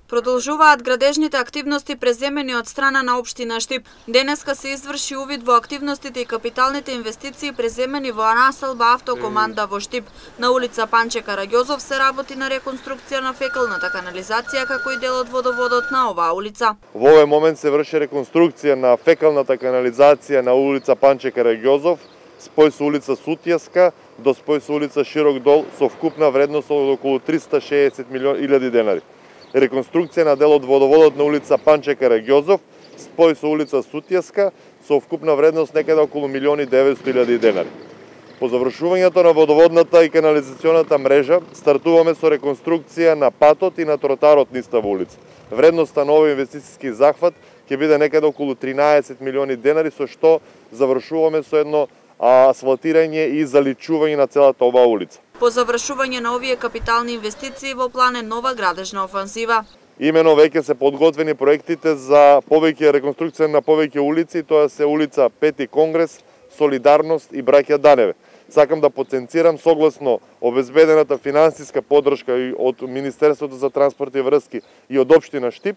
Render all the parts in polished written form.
Продолжуваат градежните активности преземени од страна на општина Штип. Денеска се изврши увид во активностите и капиталните инвестиции преземени во населба Автокоманда во Штип. На улица Панче Караѓозов се работи на реконструкција на фекалната канализација како и дел од водоводот на оваа улица. Во овој момент се врши реконструкција на фекалната канализација на улица Панче Караѓозов, спој со улица Сутјеска до спој со улица Широк дол со вкупна вредност од околу 360.000 денари. Реконструкција на дел од водоводот на улица Панче Караѓозов, спој со улица Сутјеска со вкупна вредност некаде околу 1.900.000 денари. По завршувањето на водоводната и канализационата мрежа стартуваме со реконструкција на патот и на тротарот низ таа улица. Вредноста на овој инвестициски захват ќе биде некаде околу 13 милиони денари, со што завршуваме со едно асфалтирање и заличување на целата оваа улица. По завршување на овие капитални инвестиции во план е нова градежна офанзива. Имено веќе се подготвени проектите за повеќе реконструкција на повеќе улици, тоа се улица Пети Конгрес, Солидарност и Браќа Даневе. Сакам да потенцирам согласно обезбедената финансиска поддршка и од Министерството за транспорт и врски и од општина Штип,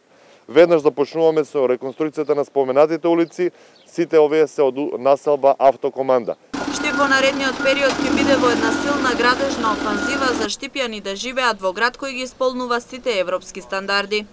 веднаш започнуваме со реконструкцијата на споменатите улици, сите овие се од населба Автокоманда. Штип во наредниот период ќе биде во една силна градежна офанзива за штипјани да живеат во град кој ги исполнува сите европски стандарди.